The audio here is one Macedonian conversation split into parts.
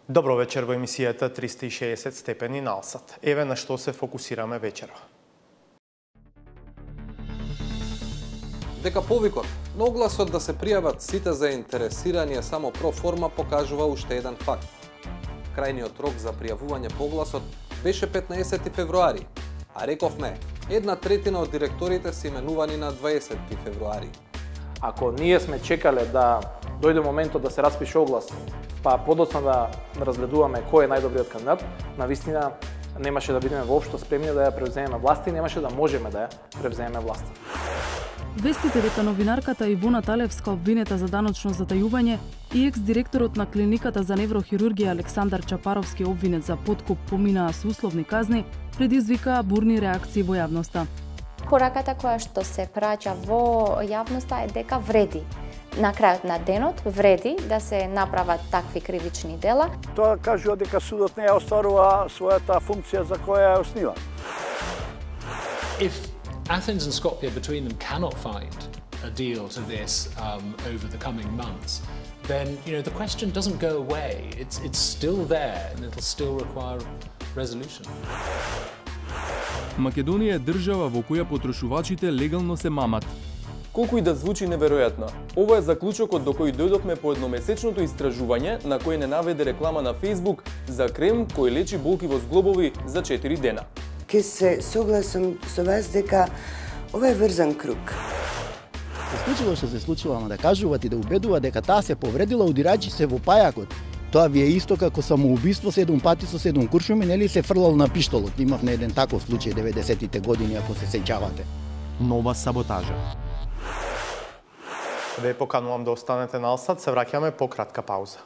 Добро вечер во емисијата 360 степени налсат. Еве на што се фокусираме вечерва. Дека повикот на огласот да се пријават сите заинтересирани само проформа покажува уште еден факт. Крајниот рок за пријавување по огласот беше 15 февруари, а рековме, 1/3 од директорите се именувани на 20 февруари. Ако ние сме чекале да дојде моментот да се распише оглас, па подоцна да разгледуваме кој е најдобриот кандидат, навистина немаше да бидеме воопшто спремни да ја превземеме власт и немаше да можеме да ја превземеме власт. Вестите дека новинарката Ивона Талевска обвинета за даночно затајување и екс-директорот на клиниката за неврохирургија Александар Чапаровски обвинет за подкуп поминаа со условни казни, предизвикаа бурни реакции во јавноста. Пораката која што се праќа во јавноста е дека вреди. На крајот на денот вреди да се направат такви кривични дела. Тоа кажува дека судот не ја остварува својата функција за која ја оснива. If Athens and Skopje between them cannot find a deal to this over the coming months, then the question doesn't go away. It's still there and it'll still require resolution. Македонија е држава во која потрошувачите легално се мамат. Колку и да звучи неверојатно, ова е заклучокот до кој дојдовме по едномесечното истражување на кој не наведе реклама на Facebook за крем кој лечи болки во зглобови за 4 дена. Ке се согласам со вас дека ова е врзан круг. Се случило што се случило, ама да кажуваат и да убедуваат дека таа се повредила удирајќи се во пајакот. Тоа ви е исто како самоубиство 7 пати со 7 куршуми, нели се фрлал на пиштолот. Имавме еден таков случај 90-тите години, ако се сеќавате. Нова саботажа. Ве поканувам да останете налсат, се враќаме по кратка пауза.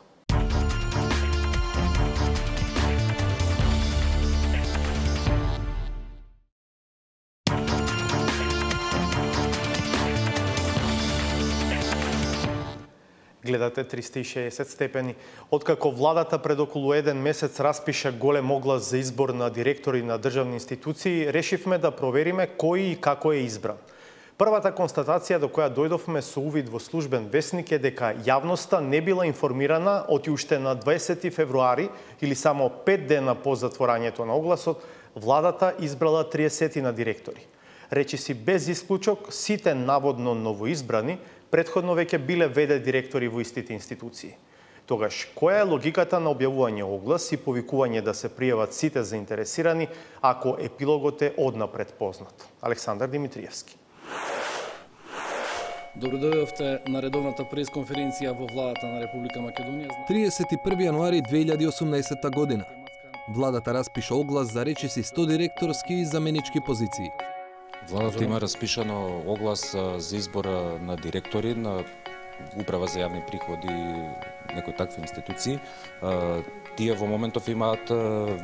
Гледате 360 степени. Откако владата пред околу еден месец распиша голем оглас за избор на директори на државни институции, решивме да провериме кој и како е избран. Првата констатација до која дојдовме со увид во службен весник е дека јавноста не била информирана оти уште на 20 февруари или само 5 дена по затворањето на огласот, владата избрала 30 на директори. Речиси без исклучок, сите наводно новоизбрани претходно веќе биле ВД директори во истите институции. Тогаш, која е логиката на објавување оглас и повикување да се пријават сите заинтересирани ако епилогот е однапред познат? Александар Димитриевски. Добро дојдовте на редовната пресконференција во владата на Република Македонија. 31 јануари 2018 година. Владата распиша оглас за речиси 100 директорски и заменички позиции. Владата има распишано оглас за избор на директори на Управа за јавни приходи и некои такви институции. Тие во моментов имаат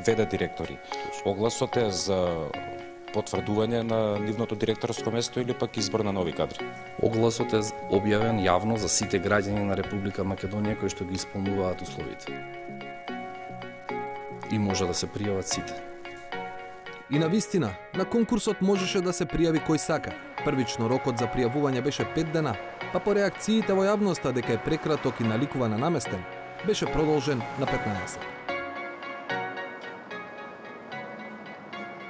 ВД директори. Огласот е за потврдување на нивното директорско место или пак избор на нови кадри. Огласот е објавен јавно за сите граѓани на Република Македонија кои што ги исполнуваат условите. И може да се пријават сите. И на вистина, на конкурсот можеше да се пријави кој сака. Првично рокот за пријавување беше 5 дена, па по реакциите во јавноста дека е прекраток и наликува на наместен, беше продолжен на 15.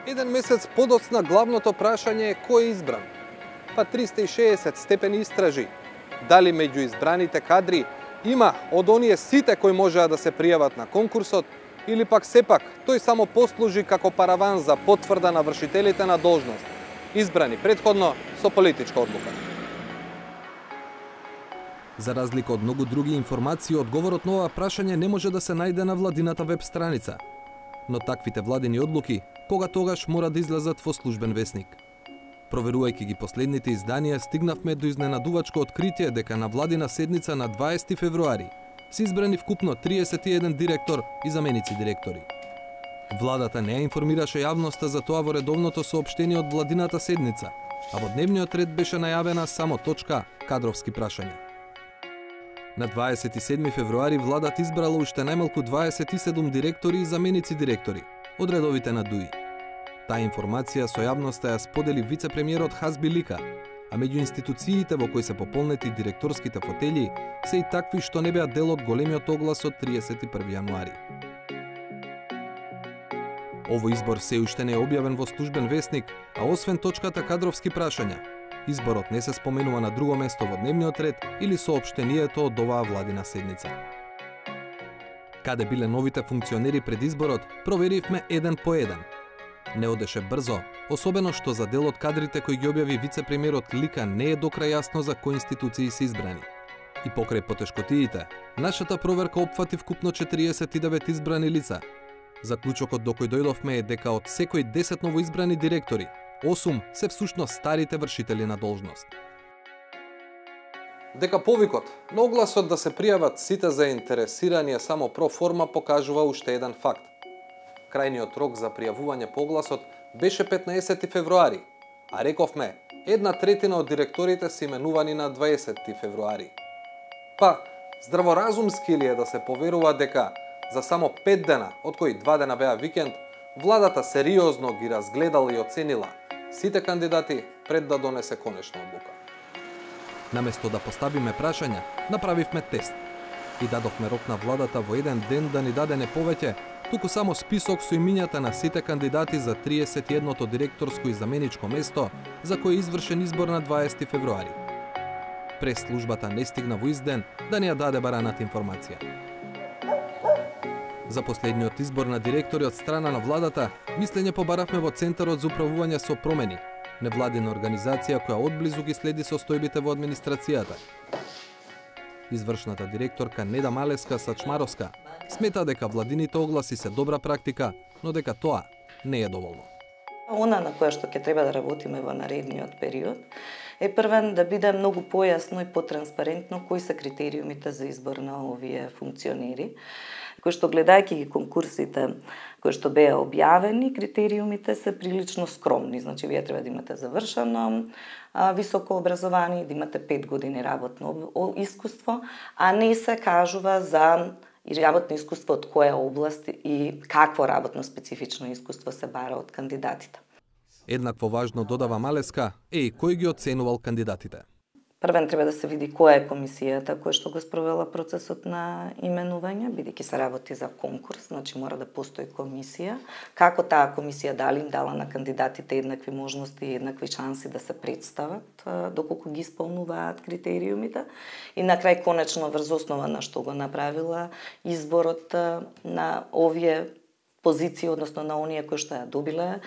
Еден месец подоцна главното прашање е кој е избран. Па 360 степени истражи. Дали меѓу избраните кадри има од оние сите кои можеа да се пријават на конкурсот, или пак сепак тој само послужи како параван за потврда на вршителите на должност, избрани претходно со политичка одлука. За разлика од многу други информации, одговорот на ова прашање не може да се најде на владината веб страница. Но таквите владини одлуки кога тогаш мора да излезат во службен весник. Проверувајќи ги последните изданија, стигнавме до изненадувачко откритие дека на владина седница на 20 февруари се избрани вкупно 31 директор и заменици директори. Владата не ја информираше јавноста за тоа во редовното соопштение од владината седница, а во дневниот ред беше најавена само точка кадровски прашања. На 27 февруари владата избрала уште најмалку 27 директори и заменици директори од редовите на ДУИ. Таа информација со јавноста ја сподели вице-премиерот Хазби Лика, а меѓу институциите во кои се пополнети директорските фотели се и такви што не беа дел од големиот оглас од 31 јануари. Овој избор се уште не е објавен во службен весник, а освен точката кадровски прашања, изборот не се споменува на друго место во дневниот ред или соопштението од оваа владина седница. Каде биле новите функционери пред изборот, проверивме еден по еден. Не одеше брзо, особено што за дел од кадрите кои ги објави вице-премиерот Лика не е до крај јасно за кои институции се избрани. И покрај потешкотиите, нашата проверка опфати вкупно 49 избрани лица. Заклучокот до кој дојдовме е дека од секој 10 новоизбрани директори, 8 се всушност старите вршители на должност. Дека повикот на огласот да се пријават сите заинтересирани е само проформа покажува уште еден факт. Крајниот рок за пријавување по огласот беше 15 февруари, а рековме, 1/3 од директорите се именувани на 20 февруари. Па, здраворазумски ли е да се поверува дека за само 5 дена, од кои 2 дена беа викенд, владата сериозно ги разгледала и оценила сите кандидати пред да донесе конечна одлука. Наместо да поставиме прашања, направивме тест и дадовме рок на владата во еден ден да ни даде не повеќе, туку само список со имињата на сите кандидати за 31-то директорско и заменичко место за кој е извршен избор на 20 февруари. Прес-службата не стигна во изден да ни ја даде бараната информација. За последниот избор на директори од страна на владата, мислење побаравме во Центарот за управување со промени, невладина организација која одблизу ги следи состојбите во администрацијата. Извршната директорка Неда Малевска-Сачмаровска смета дека владините огласи се добра практика, но дека тоа не е доволно. Она на која што ќе треба да работиме во наредниот период е првен да биде многу појасно и потранспарентно кои се критериумите за избор на овие функционери, кои што гледајќи ги конкурсите кои што беа објавени, критериумите се прилично скромни. Значи, вие треба да имате завршено високо образование, да имате 5 години работно искуство, а не се кажува за работно искуство од која област и какво работно специфично искуство се бара од кандидатите. Еднакво важно, додава Малеска, е и кој ги оценувал кандидатите. Првен треба да се види која е комисијата која што го спровела процесот на именување, бидејќи се работи за конкурс, значи мора да постои комисија. Како таа комисија дали им дала на кандидатите еднакви можности и еднакви шанси да се представат, доколку ги исполнуваат критериумите. И на крај конечно врз основа на што го направила изборот на овие позиции, односно на оние кои што ја добиле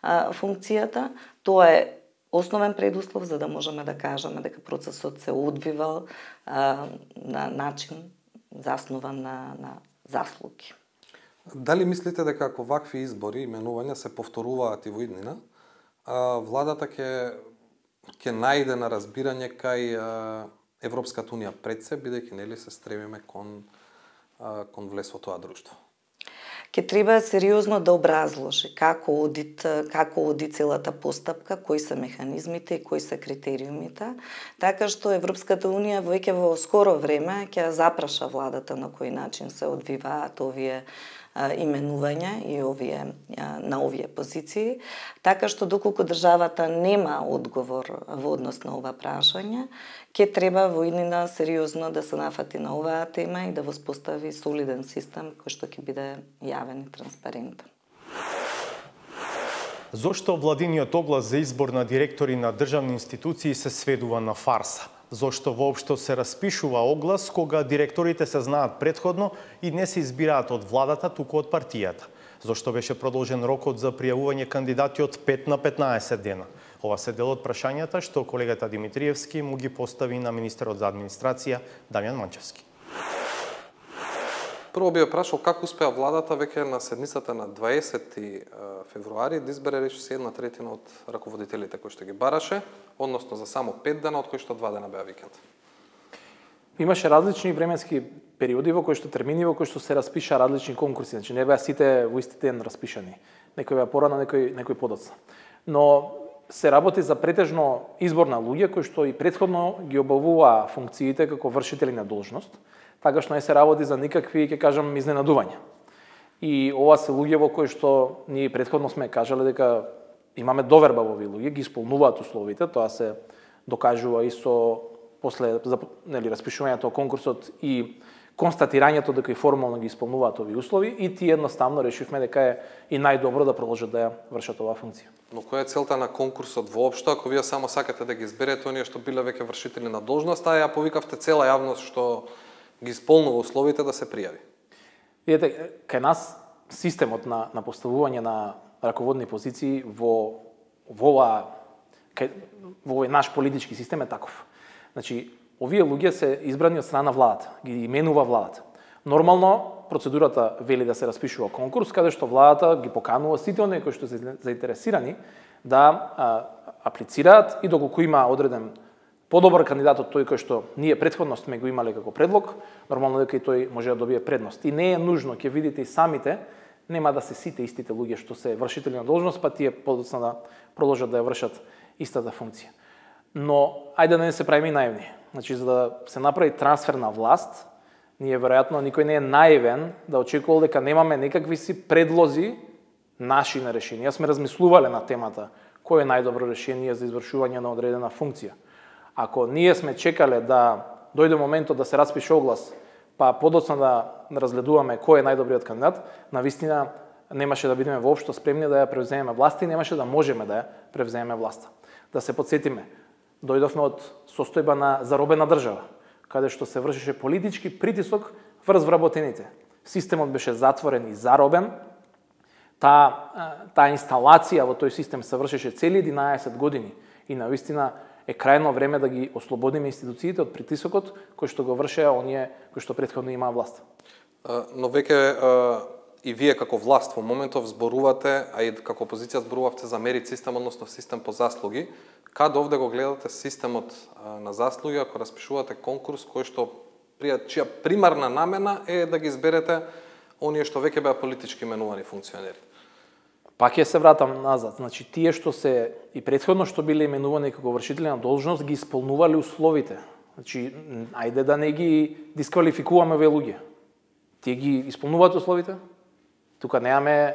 функцијата, тоа е основен предуслов за да можеме да кажеме дека процесот се одвивал на начин заснован на заслуги. Дали мислите дека ако вакви избори, именувања се повторуваат и во иднина, владата ќе најде на разбирање кај Европската унија пред се, бидејќи нели се стремиме кон влез во тоа друштво? Ке треба сериозно да образложи како оди целата постапка, кои се механизмите и кои се критериумите, така што Европската унија веќе во скоро време ќе запраша владата на кој начин се одвиваат овие именувања и на овие позиции, така што доколку државата нема одговор во однос на ова прашање, ќе треба во иднина сериозно да се нафати на оваа тема и да воспостави солиден систем кој што ќе биде јавен и транспарентен. Зошто владиниот оглас за избор на директори на државни институции се сведува на фарса? Зошто воопшто се распишува оглас кога директорите се знаат претходно и не се избираат од владата, туку од партијата? Зошто беше продолжен рокот за пријавување кандидати од 5 на 15 дена? Ова се дел од прашањата што колегата Димитриевски му ги постави на министерот за администрација Дамјан Манчевски. Прво би ја прашал како успеа владата веќе на седмицата на 20 февруари да избере речиси 1/3 од раководителите кои што ги бараше, односно за само 5 дена, од кои што 2 дена беа викенд. Имаше различни временски периоди во кои што термини во кои што се распиша различни конкурси, значи не беа сите во исти ден распишани. Некој беа порано, некој подоцна. Но се работи за претежно избор на луѓе кои што и претходно ги обавуваа функциите како вршители на должност, така што не се работи за никакви, ќе кажам, изненадувања. И ова се луѓе во кои што ние претходно сме кажале дека имаме доверба во овие луѓе, ги исполнуваат условите, тоа се докажува и со после распишувањето конкурсот и констатирањето дека и формално ги исполнуваат овие услови и тие едноставно решивме дека е и најдобро да продолжат да ја вршат оваа функција. Но која е целта на конкурсот воопшто, ако вие само сакате да ги изберете оние што биле веќе вршители на должност, а ја повикавте цела јавност што ги исполнува условите да се пријави? Видете, кај нас системот на поставување на раководни позиции во овој наш политички систем е таков. Значи, овие луѓе се избрани од страна на владата, ги именува владата. Нормално процедурата вели да се распишува конкурс каде што владата ги поканува сите оние кои што се заинтересирани да аплицираат и доколку има одреден подобар кандидат од тој кој што ние претходно сме го имале како предлог, нормално дека и тој може да добие предност. И не е нужно, ќе видите и самите, нема да се сите истите луѓе што се вршители на должност, па тие подоцна да продолжат да ја вршат истата функција. Но ајде да не се правиме наивни. Значи, за да се направи трансфер на власт, ние веројатно никој не е наивен да очекувал дека немаме некакви си предлози наши на решенија. Сме размислувале на темата кој е најдобро решение за извршување на одредена функција. Ако ние сме чекале да дојде моментот да се распише оглас, па подоцна да разгледуваме кој е најдобриот кандидат, навистина немаше да бидеме воопшто спремни да ја превземеме власта и немаше да можеме да ја превземеме власта. Да се подсетиме, дојдовме од состојба на заробена држава, каде што се вршеше политички притисок врз вработените. Системот беше затворен и заробен. Таа инсталација во тој систем се вршеше цели 11 години и навистина е крајно време да ги ослободиме институциите од притисокот кој што го вршеа оние кои што претходно имаа власт. Но веќе и вие како власт во моментов зборувате, а и како опозиција зборувавте за мерит систем, односно систем по заслуги. Каде овде го гледате системот на заслуги ако распишувате конкурс кој што чија примарна намена е да ги изберете оние што веќе беа политички именувани функционери? Пак ќе се вратам назад. Значи, тие што се и претходно што биле именувани како вршители на должност ги исполнувале условите. Значи, ајде да не ги дисквалификуваме овие луѓе. Тие ги исполнуваат условите. Тука немаме,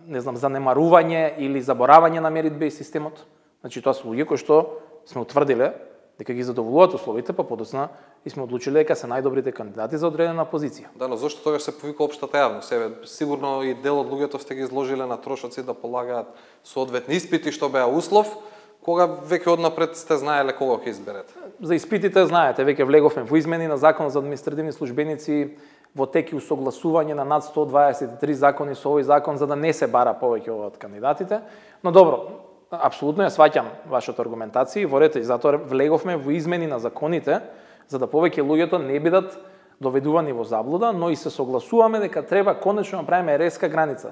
не знам, занемарување или заборавање на меритбе и системот. Значи, тоа се луѓе кои што сме утврдиле дека ги задоволуваат условите, па подоцна и сме одлучиле дека се најдобрите кандидати за одредена позиција. Да, но зошто тогаш се повика општата јавност? Сигурно и дел од луѓето сте ги изложиле на трошоци да полагаат соодветни испити што беа услов, кога веќе однапред сте знаеле кого ќе изберете. За испитите знаете, веќе влеговме во измени на Законот за административни службеници, во тек и усогласување на над 123 закони со овој закон за да не се бара повеќе од кандидатите. Но добро, апсолутно ја сваќам вашата аргументација и ворете, и затоа влеговме во измени на законите за да повеќе луѓето не бидат доведувани во заблуда, но и се согласуваме дека треба конечно да правиме резка граница.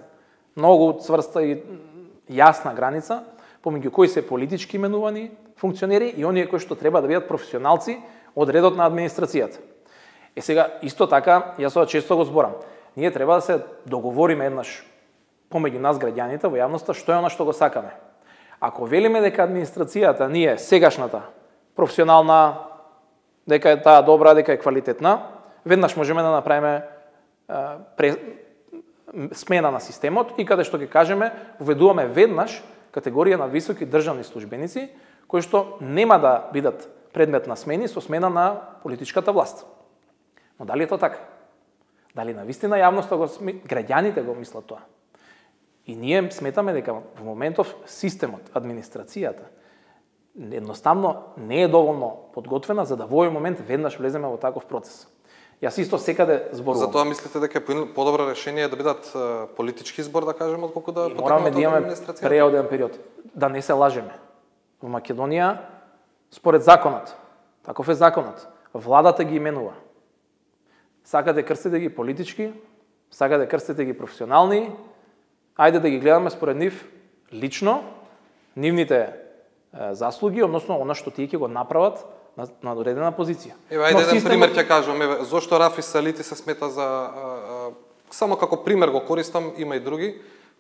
Многу цврста и јасна граница помеѓу кои се политички именувани функционери и оние кои што треба да бидат професионалци од редот на администрацијата. Сега, исто така, јас ова често го зборам, ние треба да се договориме еднаш помеѓу нас граѓаните во јавноста што е она што го сакаме. Ако велиме дека администрацијата ние сегашната професионална, дека е таа добра, дека е квалитетна, веднаш можеме да направиме смена на системот и каде што ќе кажеме, введуваме веднаш категорија на високи државни службеници кои што нема да бидат предмет на смени со смена на политичката власт. Но дали е тоа така? Дали навистина јавноста граѓаните го мислат тоа? И ние сметаме дека во моментов системот, администрацијата, едноставно не е доволно подготвена за да во овој момент веднаш влеземе во таков процес. Јас исто секаде зборувам. Затоа мислите дека е подобро решение да бидат политички избор, да кажеме, отколку да мораме да имаме преоден период. Да не се лажеме. Во Македонија, според законот, таков е законот, владата ги именува. Сакате крстите ги политички, сакате крстите ги професионални, ајде да ги гледаме според нив лично, нивните заслуги, односно она што тие ќе го направат на одредена позиција. Ајде еден пример ќе кажам, зошто Рафис Салити се смета за само како пример го користам, има и други,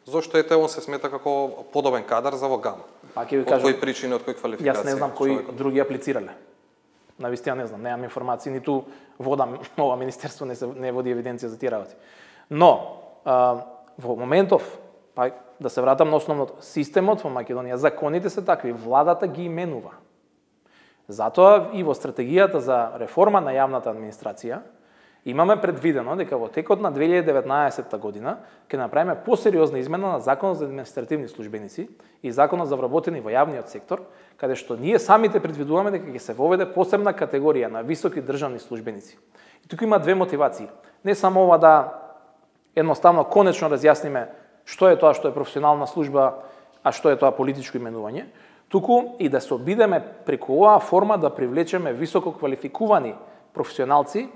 зошто он се смета како подобен кадар за во ГАМ. Па ќе ви кажам, од кои причини, од кои квалификации? Јас не знам кои други аплицирале. Навистина не знам, немам информации, ниту водам ова министерство не води евиденција за тие работи. Но во моментов, па да се вратам на основното, системот во Македонија, законите се такви, владата ги именува. Затоа и во стратегијата за реформа на јавната администрација Имаме предвидено дека во текот на 2019 година ќе направиме посериозна измена на Законот за административни службеници и Законот за вработени во јавниот сектор, каде што ние самите предвидуваме дека ќе се воведе посебна категорија на високи државни службеници. И тука има две мотивации. Не само ова да едноставно конечно разјасниме што е тоа што е професионална служба, а што е тоа политичко именување, туку и да се обидеме преку оваа форма да привлечеме високо квалификувани професионалци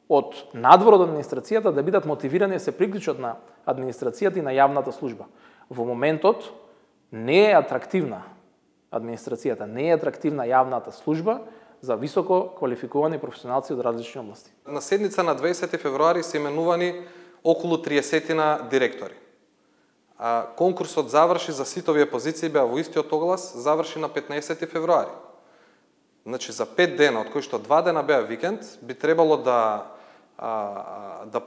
од надвор од администрацијата да бидат мотивирани да се приклучат на администрацијата и на јавната служба. Во моментот не е атрактивна администрацијата, не е атрактивна јавната служба за високо квалификувани професионалци од различни области. На седница на 20 февруари се именувани околу 30 директори. Конкурсот заврши за сите овие позиции, беа во истиот оглас, заврши на 15 февруари. Значи за 5 дена, од кои што 2 дена беа викенд, би требало да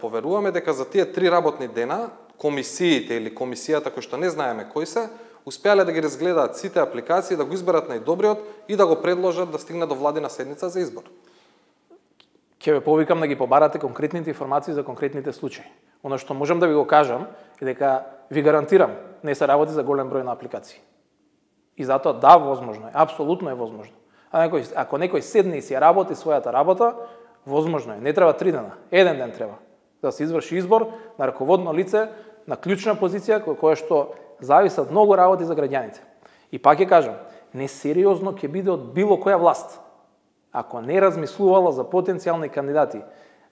поверуваме дека за тие 3 работни дена комисиите или комисијата кои што не знаеме кои се, успеале да ги разгледаат сите апликации, да го изберат најдобриот и да го предложат да стигне до владина седница за избор. Ќе ве повикам да ги побарате конкретните информации за конкретните случаи. Оно што можам да ви го кажам е дека ви гарантирам, не се работи за голем број на апликации. И затоа да, возможно е, апсолутно е возможно. Ако некој седне и си работи својата работа, возможно е. Не треба 3 дена, 1 ден треба да се изврши избор на раководно лице на клучна позиција која што зависат многу работи за граѓаните. И пак ќе кажам, несериозно ќе биде од било која власт ако не размислувала за потенцијални кандидати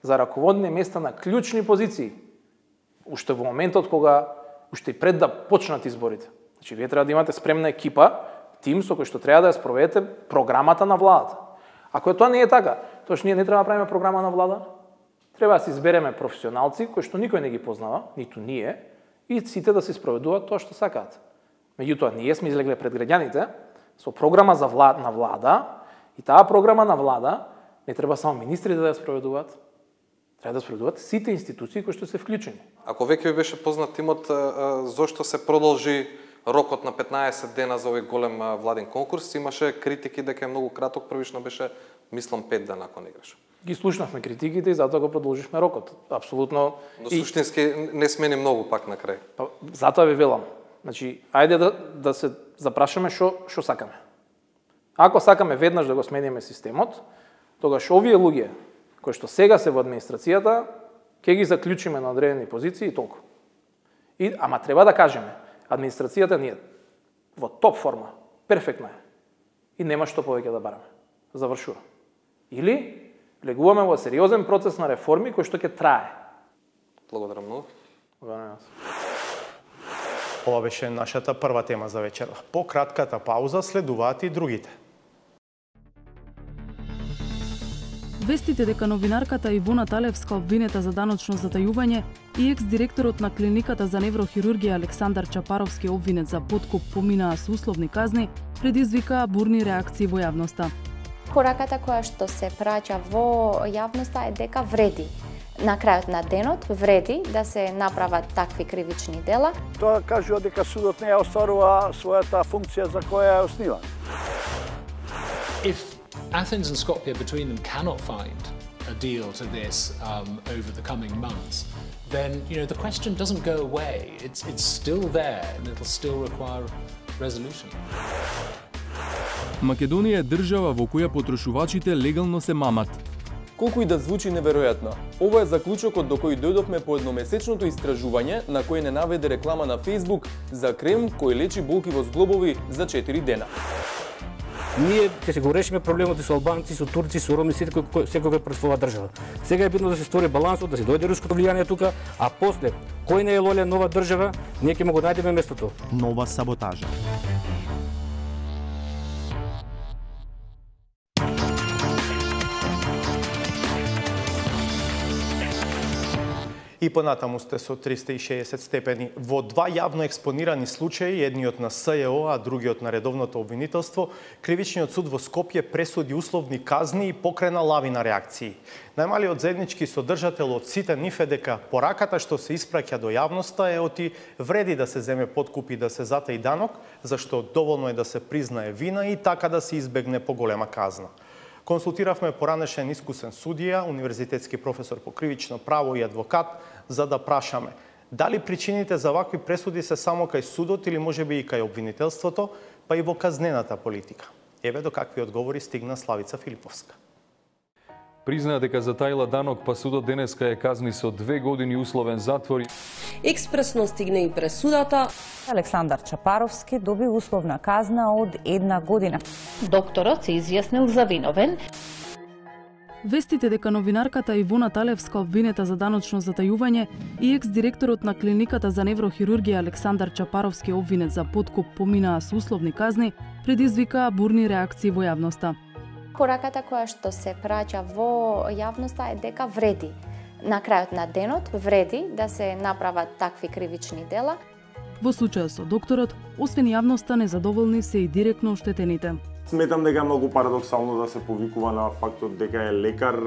за раководни места на клучни позиции, уште во моментот кога уште и пред да почнат изборите. Значи, вие треба да имате спремна екипа, тим со кој што треба да ја спроведете програмата на владата. Ако тоа не е така, тоаш ние не треба да правиме програма на влада, треба да се избереме професионалци кои што никој не ги познава, ниту ние, и сите да се спроведуваат тоа што сакаат. Меѓутоа, ние сме излегле пред граѓаните со програма на влада, и таа програма на влада не треба само министрите да ја спроведуваат, треба да спроведуваат сите институции кои што се вклучени. Ако веќе ви беше познат тимот, зошто се продолжи рокот на 15 дена за овој голем владин конкурс, имаше критики дека е многу краток, првично беше, мислам, 5 дена, ако не грешам. Ги слушнавме критиките и затоа го продолживме рокот. Апсолутно. Но суштински не смени многу пак на крај. Затоа ви велам. Значи, ајде да се запрашаме што сакаме. Ако сакаме веднаш да го смениме системот, тогаш овие луѓе кои што сега се во администрацијата, ќе ги заклучиме на одредени позиции и толку. Ама треба да кажеме, администрацијата ни е во топ форма, перфектна е. И нема што повеќе да бараме. Завршува. Или влегуваме во сериозен процес на реформи кој што ќе трае. Благодарам многу. Ова беше нашата прва тема за вечера. По кратката пауза следуваат и другите. Вестите дека новинарката Ивона Талевска обвинета за даночно затајување и екс-директорот на клиниката за неврохирургија Александар Чапаровски обвинет за подкуп поминаа со условни казни, предизвика бурни реакции во јавноста. Пораката која што се праќа во јавноста е дека вреди. На крајот на денот вреди да се направат такви кривични дела. Тоа кажува дека судот не ја остварува својата функција за која е основан. If Athens and Skopje between them cannot find a deal to this over the coming months, then the question doesn't go away. It's still there and it'll still require resolution. Македонија е држава во која потрошувачите легално се мамат. Колку и да звучи неверојатно, ова е заклучокот до кој дојдовме по едномесечното истражување на кој не наведе реклама на Facebook за крем кој лечи болки во зглобови за 4 дена. Ние ќе се го решиме проблемот и со албанци, со турци, со роми, секој пред своја држава. Сега е битно да се стори балансот, да се дојде руското влијание тука, а после, кој не е лоле нова држава, ние ќе му го најдеме местото. Нова саботажа. И понатаму сте со 360 степени. Во два јавно експонирани случаи, едниот на СЈО, а другиот на редовното обвинителство, кривичниот суд во Скопје пресуди условни казни и покрена лавина реакции. Најмалиот заеднички содржател од сите нив е дека пораката што се испраќа до јавноста е оти вреди да се земе подкуп и да се затаи данок, зашто доволно е да се признае вина и така да се избегне поголема казна. Консултиравме поранешен искусен судија, универзитетски професор по кривично право и адвокат, за да прашаме дали причините за вакви пресуди се само кај судот или можеби и кај обвинителството, па и во казнената политика. Еве до какви одговори стигна Славица Филиповска. Признаа дека затаила данок, па судот денеска е казни со 2 години условен затвор. Експресно стигне и пресудата. Александар Чапаровски доби условна казна од 1 година. Докторот се изјаснил за виновен. Вестите дека новинарката Ивона Талевска обвинета за даночно затајување и екс-директорот на клиниката за неврохирургија Александар Чапаровски обвинет за подкуп поминаа со условни казни, предизвикаа бурни реакции во јавноста. Пораката која што се праќа во јавноста е дека вреди. На крајот на денот вреди да се направат такви кривични дела. Во случајот со докторот, освен јавноста, незадоволни се и директно оштетените. Сметам дека е многу парадоксално да се повикува на фактот дека е лекар,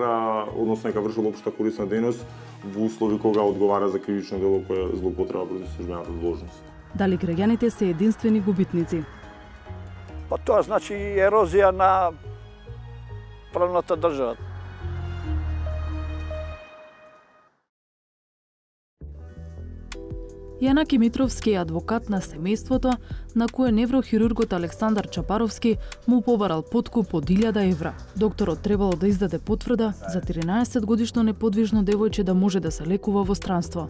односно дека вршил општа корисна дејност во услови кога одговара за кривично дело кое е злоупотреба против службената должност. Дали граѓаните се единствени губитници? Па тоа значи ерозија на правната држава. Јанаки Митровски е адвокат на семејството на кое неврохирургот Александар Чапаровски му побарал подкуп од 1000 евра. Докторот требало да издаде потврда за 13-годишно неподвижно девојче да може да се лекува во странство.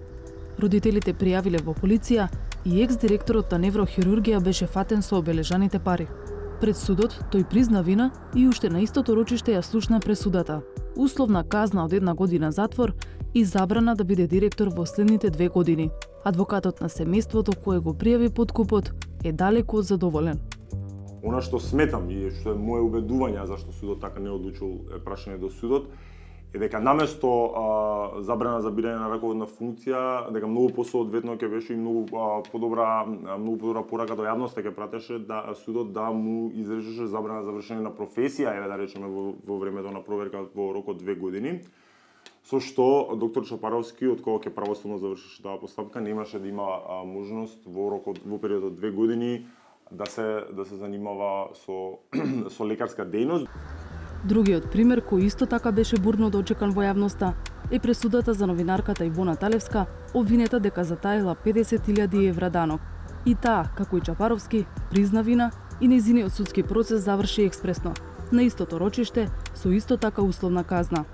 Родителите пријавиле во полиција и екс-директорот на неврохирургија беше фатен со обележаните пари. Пред судот тој призна вина и уште на истото рочиште ја слушна пресудата. Условна казна од 1 година затвор и забрана да биде директор во следните 2 години. Адвокатот на семејството кој го пријави подкупот е далеку од задоволен. Она што сметам и што е моje убедување зашто судот така не одлучил е прашање до судот е дека наместо забрана за бирање на раководна функција, дека многу посоодветно ќе беше и многу подобра порака до јавноста ќе пратеше да судот да му изречеше забрана за вршење на професија, еве да речеме во времето на проверка во рок од 2 години. Со што доктор Чапаровски, од кога ќе правосудно завршеше таа постапка, немаше да има можност во период од 2 години да се занимава со лекарска дејност. Другиот пример кој исто така беше бурно дочекан во јавноста е пресудата за новинарката Ивона Талевска, обвинета дека затаила 50.000 евра данок. И таа, како и Чапаровски, призна вина и нејзиниот судски процес заврши експресно, на истото рочиште со исто така условна казна.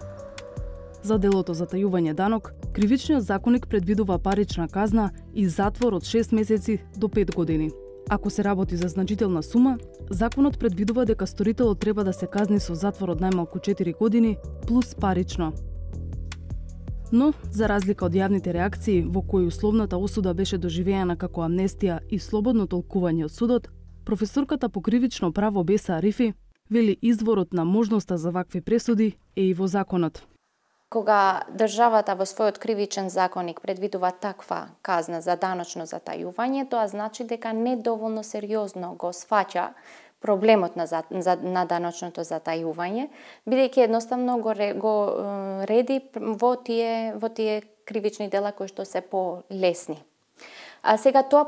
За делото затајување данок, кривичниот законник предвидува парична казна и затвор од 6 месеци до 5 години. Ако се работи за значителна сума, законот предвидува дека сторителот треба да се казни со затвор од најмалку 4 години плюс парично. Но, за разлика од јавните реакции во кои условната осуда беше доживеана како амнестија и слободно толкување од судот, професорката по кривично право Беса Арифи вели изворот на можноста за вакви пресуди е и во законот. Кога државата во својот кривичен законник предвидува таква казна за даночно затајување, тоа значи дека недоволно сериозно го сфаќа проблемот на даночното затајување, бидејќи едноставно го реди во тие кривични дела кои што се полесни. А сега тоа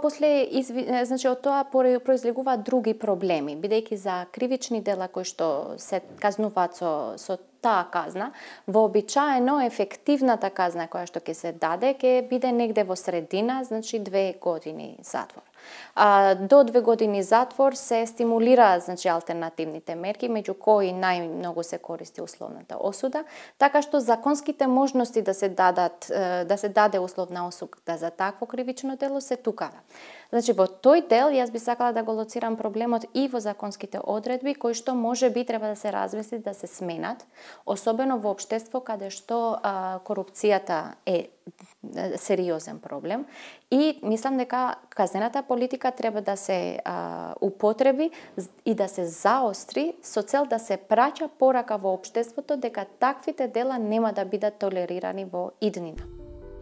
значи од тоа произлегуваат други проблеми, бидејќи за кривични дела кои што се казнуваат со таа казна, вообичаено ефективната казна која што ќе се даде ќе биде негде во средина, значи 2 години затвор. До 2 години затвор се стимулира, значи, алтернативните мерки, меѓу кои најмногу се користи условната осуда, така што законските можности да се даде условна осуда за такво кривично дело се тукара. Значи, во тој дел јас би сакала да го лоцирам проблемот и во законските одредби, кои што може би треба да се размисли да се сменат, особено во општество каде што корупцијата е сериозен проблем и мислам дека казнената политика треба да се употреби и да се заостри со цел да се праќа порака во општеството дека таквите дела нема да бидат толерирани во иднина.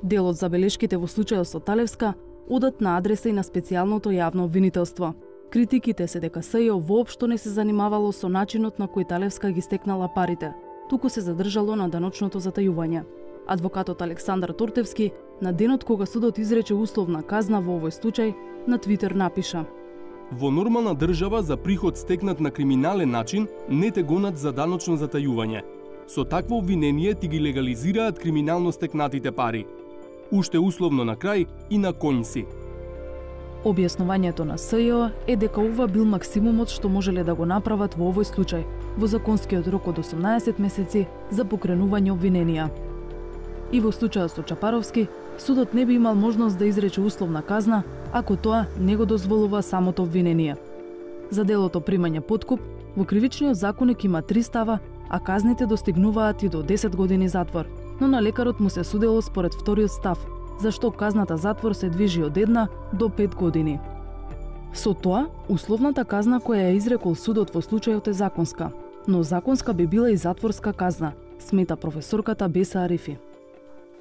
Дел од забелешките во случајот со Талевска одат на адреса и на специјалното јавно обвинителство. Критиките се дека СЈО воопшто не се занимавало со начинот на кој Талевска ги стекнала парите, туку се задржало на даночното затајување. Адвокатот Александар Тортевски, на денот кога судот изрече условна казна во овој случај, на Твитер напиша: Во нормална држава за приход стекнат на криминален начин не те гонат за даночно затајување. Со такво обвинение ти ги легализираат криминално стекнатите пари. Уште условно на крај и на конј си. Објаснувањето на СЈО е дека ова бил максимумот што можеле да го направат во овој случај, во законскиот рок од 18 месеци за покренување обвиненија. И во случајот со Чапаровски, судот не би имал можност да изрече условна казна, ако тоа не го дозволува самото обвинение. За делото примање подкуп, во кривичниот законник има 3 става, а казните достигнуваат и до 10 години затвор, но на лекарот му се судело според вториот став, зашто казната затвор се движи од 1 до 5 години. Со тоа, условната казна која ја изрекол судот во случајот е законска, но законска би била и затворска казна, смета професорката Беса Арифи.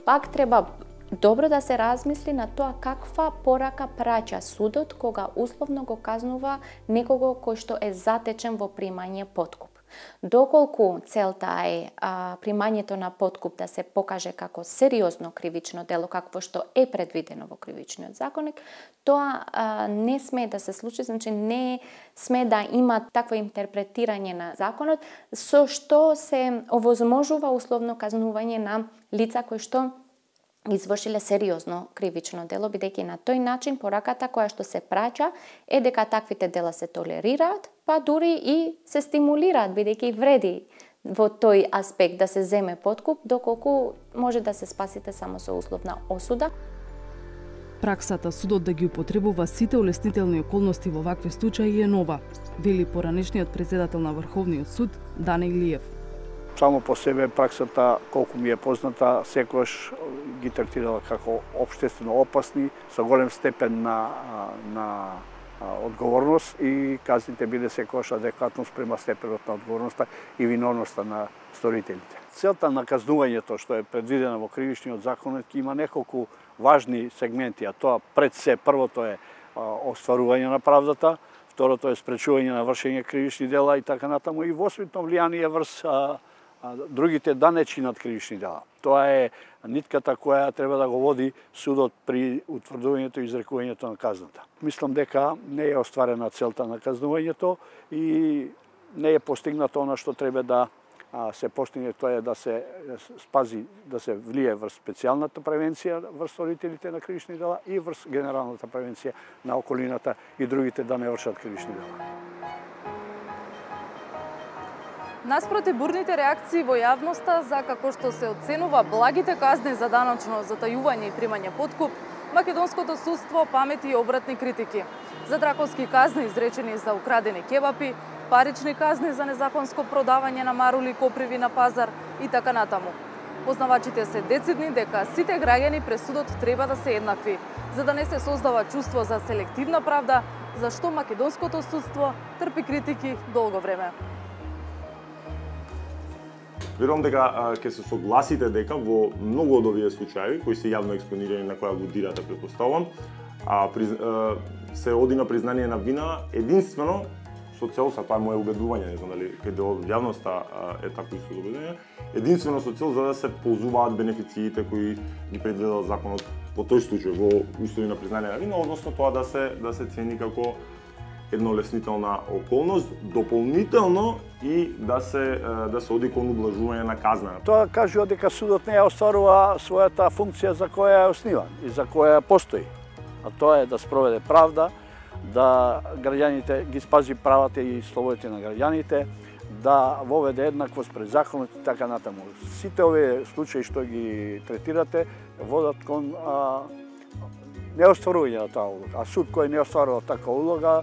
Пак треба добро да се размисли на тоа каква порака праќа судот кога условно го казнува некого кој што е затечен во примање подкуп. Доколку целта е примањето на подкуп да се покаже како сериозно кривично дело, какво што е предвидено во кривичниот законник, тоа не сме да се случи, значи не сме да има такво интерпретирање на законот, со што се овозможува условно казнување на лица кои што извршиле сериозно кривично дело, бидејќи на тој начин пораката која што се праќа е дека таквите дела се толерираат, па дури и се стимулираат, бидејќи вреди во тој аспект да се земе подкуп, доколку може да се спасите само со условна осуда. Праксата судот да ги употребува сите улеснителни околности во вакви случаи е нова, вели поранешниот претседател на Врховниот суд Дане Илиев. Само по себе праксата, колку ми е позната, секојаш ги третирала како општествено опасни, со голем степен на одговорност и казните биде секојаш адекватно спрема степенот на одговорноста и виновноста на сторителите. Целта на казнувањето што е предвидена во кривичниот законник има неколку важни сегменти, а тоа пред се првото е остварување на правдата, второто е спречување на вршење кривични дела и така натаму и воспитно влијание врз другите да не чинат кривични дела. Тоа е нитката која треба да го води судот при утврдувањето и изрекувањето на казната. Мислам дека не е остварена целта на казнувањето и не е постигнато она што треба да се постигне, тоа е да се спази, да се влие врз специјалната превенција врз сторителите на кривични дела и врз генералната превенција на околината и другите да не вршат кривични дела. Наспроти бурните реакции во јавноста за како што се оценува благите казни за даночно затајување и примање подкуп, македонското судство памети и обратни критики. За драконски казни изречени за украдени кебапи, парични казни за незаконско продавање на марули и коприви на пазар и така натаму. Познавачите се децидни дека сите граѓани пред судот треба да се еднакви, за да не се создава чувство за селективна правда, зашто македонското судство трпи критики долго време. Верувам дека ќе се согласите дека во многу од овие случаи кои се јавно експонирани на која го дирате претпоставувам, се оди на признание на вина единствено со цел, тоа е мое убедување, не знам дали каде од јавноста е такво исто убедување, единствено со цел за да се ползуваат бенефициите кои ги предвидел законот по тој случај во услови на признание на вина, односно тоа да се цени како една олеснителна околност, дополнително и да се оди кон ублажување на казна. Тоа кажува дека судот не ја остварува својата функција за која е основан и за која постои. А тоа е да спроведе правда, да граѓаните ги спази правата и слободите на граѓаните, да воведе еднаквост пред законот и така натаму. Сите овие случаи што ги третирате водат кон неостварување на таа улога. А суд кој не остварува таква улога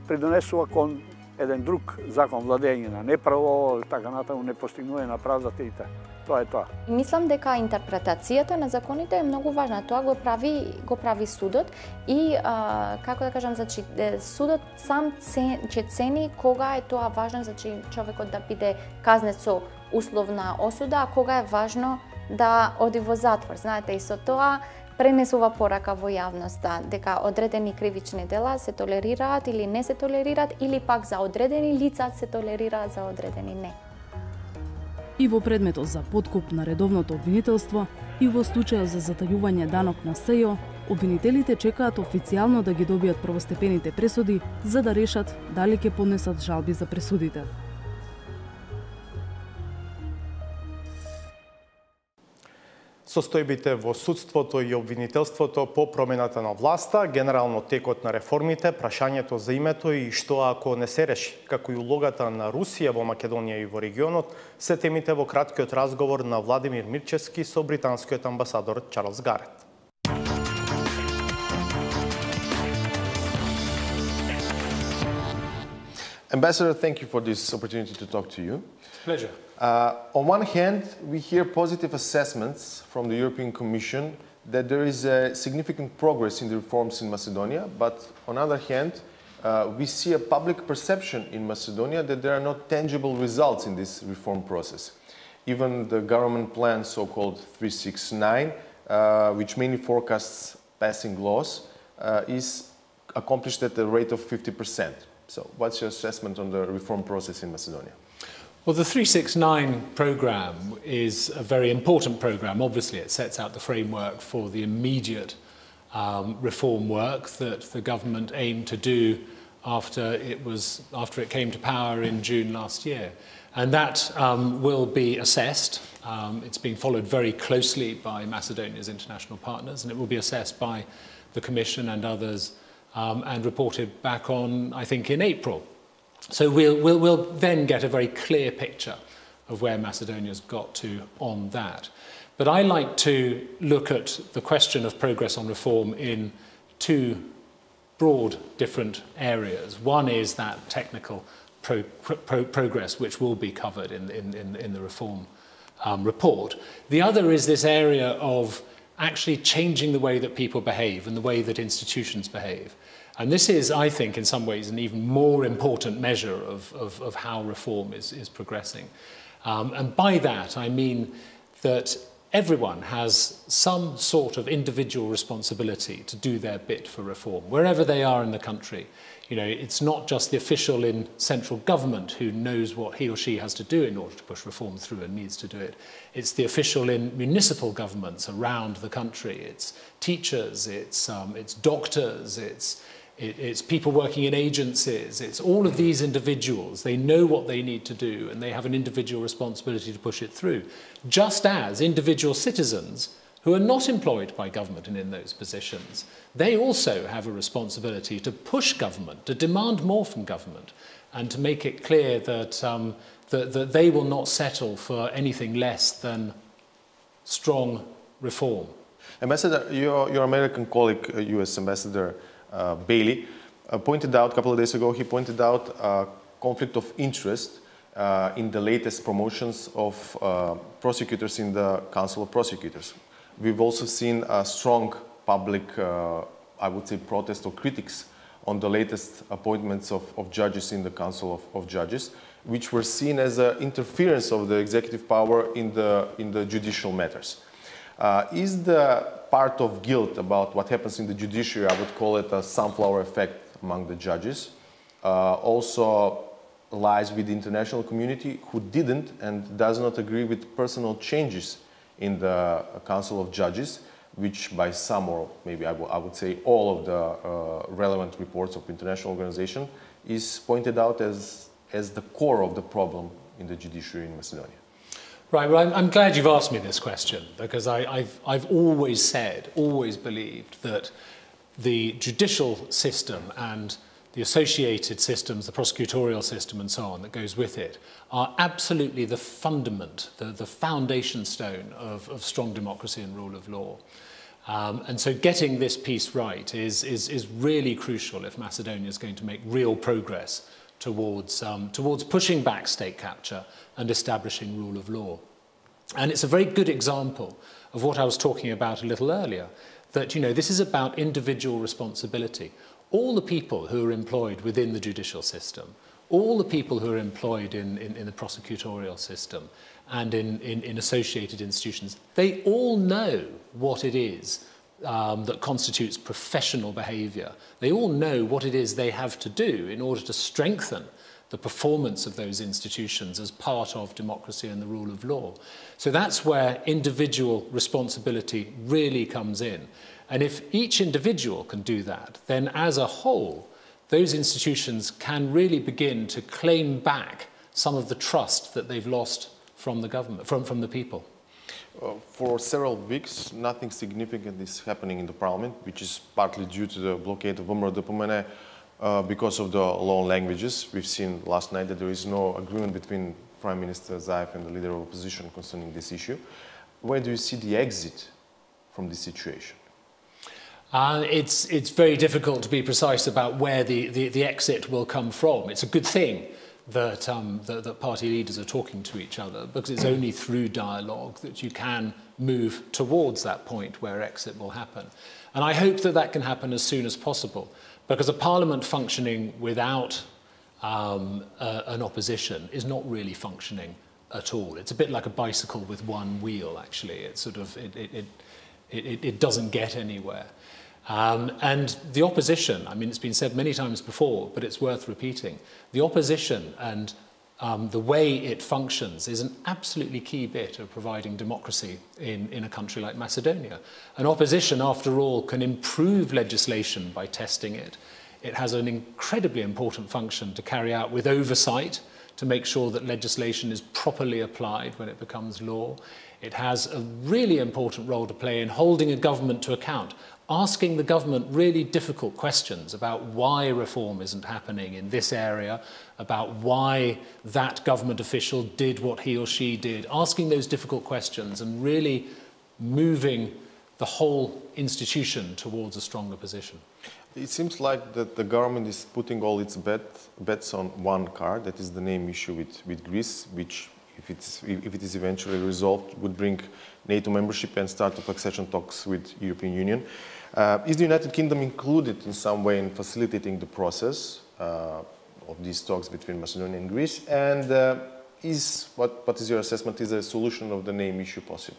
придонесува кон еден друг закон, владење на неправо, така натаму, не постигнување на правдата и така. Тоа е тоа. Мислам дека интерпретацијата на законите е многу важна. Тоа го прави судот и како да кажам, значи судот сам ќе цени кога е тоа важно, значи човекот да биде казнет со условна осуда, а кога е важно да оди во затвор. Знаете, и со тоа пренесува порака во јавноста дека одредени кривични дела се толерираат или не се толерираат, или пак за одредени лица се толерираат, за одредени не. и во предметот за подкуп на редовното обвинителство и во случајот за затајување данок на СЈО, обвинителите чекаат официјално да ги добијат првостепените пресуди за да решат дали ќе поднесат жалби за пресудите. Состојбите во судството и обвинителството по промената на власта, генерално текот на реформите, прашањето за името и што ако не се реши, како и улогата на Русија во Македонија и во регионот, се темите во краткиот разговор на Владимир Мирчевски со британскиот амбасадор Чарлс Гарет. Ambassador, thank you for this opportunity to talk to you. Pleasure. On one hand, we hear positive assessments from the European Commission that there is a significant progress in the reforms in Macedonia, but on the other hand, we see a public perception in Macedonia that there are not tangible results in this reform process. Even the government plan, so-called 369, which mainly forecasts passing laws, is accomplished at a rate of 50%. So what's your assessment on the reform process in Macedonia? Well, the 369 programme is a very important programme. Obviously, it sets out the framework for the immediate reform work that the government aimed to do after it came to power in June last year. And that will be assessed. It's being followed very closely by Macedonia's international partners, and it will be assessed by the Commission and others and reported back on, I think, in April. So we'll then get a very clear picture of where Macedonia's got to on that. But I like to look at the question of progress on reform in two broad different areas. One is that technical progress, which will be covered in the reform report. The other is this area of actually changing the way that people behave and the way that institutions behave. And this is, I think, in some ways, an even more important measure of how reform is progressing. And by that, I mean that everyone has some sort of individual responsibility to do their bit for reform, wherever they are in the country. You know, it's not just the official in central government who knows what he or she has to do in order to push reform through and needs to do it. It's the official in municipal governments around the country. It's teachers, it's doctors, it's people working in agencies, it's all of these individuals. They know what they need to do and they have an individual responsibility to push it through. Just as individual citizens who are not employed by government and in those positions, they also have a responsibility to push government, to demand more from government, and to make it clear that, that they will not settle for anything less than strong reform. Ambassador, your American colleague, US Ambassador Bailey, pointed out a couple of days ago, he pointed out a conflict of interest in the latest promotions of prosecutors in the Council of Prosecutors. We've also seen a strong public, I would say, protest or critics on the latest appointments of judges in the Council of Judges, which were seen as an interference of the executive power in the judicial matters. Is the part of guilt about what happens in the judiciary, I would call it a sunflower effect among the judges, also lies with the international community who didn't and does not agree with personal changes in the Council of Judges, which by some, or maybe I would say all of the relevant reports of international organization, is pointed out as the core of the problem in the judiciary in Macedonia. Right, well, I'm glad you've asked me this question, because I've always said, always believed that the judicial system and the associated systems, the prosecutorial system and so on that goes with it, are absolutely the fundament, the foundation stone of strong democracy and rule of law. And so getting this piece right is really crucial if Macedonia is going to make real progress towards pushing back state capture and establishing rule of law. And it's a very good example of what I was talking about a little earlier, that, you know, this is about individual responsibility. All the people who are employed within the judicial system, all the people who are employed in the prosecutorial system and in associated institutions, they all know what it is that constitutes professional behaviour. They all know what it is they have to do in order to strengthen the performance of those institutions as part of democracy and the rule of law. So that's where individual responsibility really comes in. And if each individual can do that, then as a whole, those institutions can really begin to claim back some of the trust that they've lost from the government, from the people. For several weeks, nothing significant is happening in the parliament, which is partly due to the blockade of VMRO Допомене because of the law languages. We've seen last night that there is no agreement between Prime Minister Zaev and the leader of opposition concerning this issue. Where do you see the exit from this situation? It's very difficult to be precise about where the exit will come from. It's a good thing that that party leaders are talking to each other, because it's only through dialogue that you can move towards that point where exit will happen. And I hope that that can happen as soon as possible, because a parliament functioning without an opposition is not really functioning at all. It's a bit like a bicycle with one wheel, actually. It's sort of it doesn't get anywhere. And the opposition, I mean, it's been said many times before, but it's worth repeating. The opposition and the way it functions is an absolutely key bit of providing democracy in a country like Macedonia. An opposition, after all, can improve legislation by testing it. It has an incredibly important function to carry out with oversight, to make sure that legislation is properly applied when it becomes law. It has a really important role to play in holding a government to account, asking the government really difficult questions about why reform isn't happening in this area, about why that government official did what he or she did, asking those difficult questions and really moving the whole institution towards a stronger position. It seems like that the government is putting all its bets on one card, that is the name issue with Greece, which, if it is eventually resolved, would bring NATO membership and start of accession talks with European Union. Is the United Kingdom included in some way in facilitating the process of these talks between Macedonia and Greece? And what is your assessment? Is a solution of the name issue possible?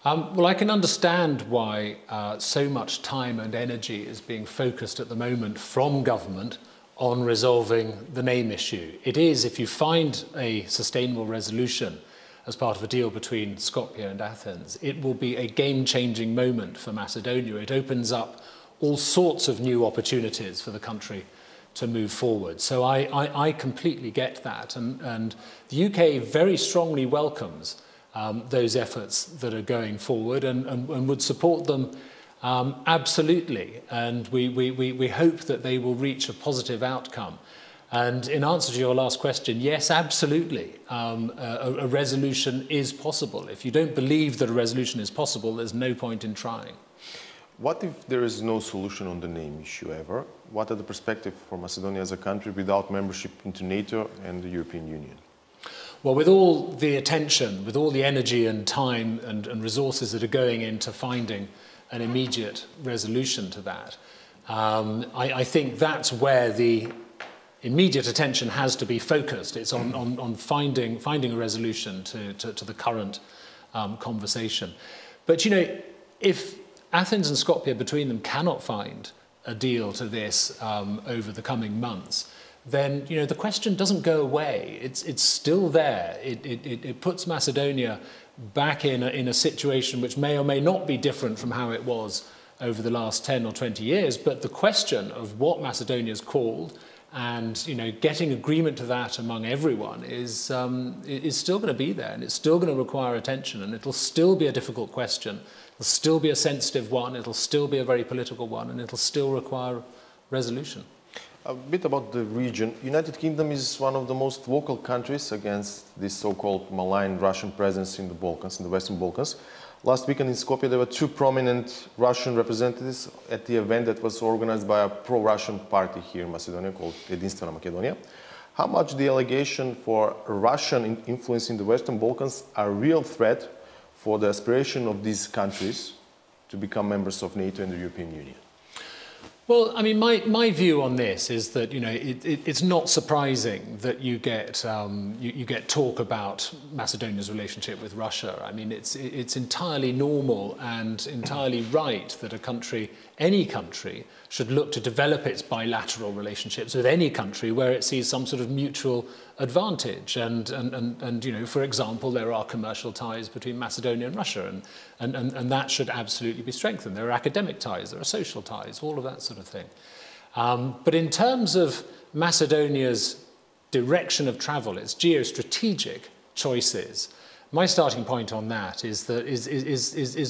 Well, I can understand why so much time and energy is being focused at the moment from government on resolving the name issue. It is, if you find a sustainable resolution as part of a deal between Skopje and Athens, it will be a game-changing moment for Macedonia. It opens up all sorts of new opportunities for the country to move forward. So I completely get that. And the UK very strongly welcomes those efforts that are going forward and would support them absolutely. And we hope that they will reach a positive outcome. And in answer to your last question, yes, absolutely, a resolution is possible. If you don't believe that a resolution is possible, there's no point in trying. What if there is no solution on the name issue ever? What are the perspectives for Macedonia as a country without membership into NATO and the European Union? Well, with all the attention, with all the energy and time and resources that are going into finding an immediate resolution to that, I think that's where the immediate attention has to be focused. It's on finding a resolution to the current conversation. But, you know, if Athens and Skopje between them cannot find a deal to this over the coming months, then, you know, the question doesn't go away. It's still there. It puts Macedonia back in a situation which may or may not be different from how it was over the last 10 or 20 years. But the question of what Macedonia is called and, you know, getting agreement to that among everyone is still going to be there, and it's still going to require attention, and it'll still be a difficult question. It'll still be a sensitive one. It'll still be a very political one, and it'll still require resolution. A bit about the region. United Kingdom is one of the most vocal countries against this so-called malign Russian presence in the Balkans, in the Western Balkans. Last weekend in Skopje, there were two prominent Russian representatives at the event that was organized by a pro-Russian party here in Macedonia called Jedinstvena Makedonia. How much the allegation for Russian influence in the Western Balkans are a real threat for the aspiration of these countries to become members of NATO and the European Union? Well, I mean, my view on this is that it's not surprising that you get talk about Macedonia's relationship with Russia. I mean, it's entirely normal and entirely right that any country, should look to develop its bilateral relationships with any country where it sees some sort of mutual advantage. And for example, there are commercial ties between Macedonia and Russia, and that should absolutely be strengthened. There are academic ties, there are social ties, all of that sort of thing. But in terms of Macedonia's direction of travel, its geostrategic choices, my starting point on that is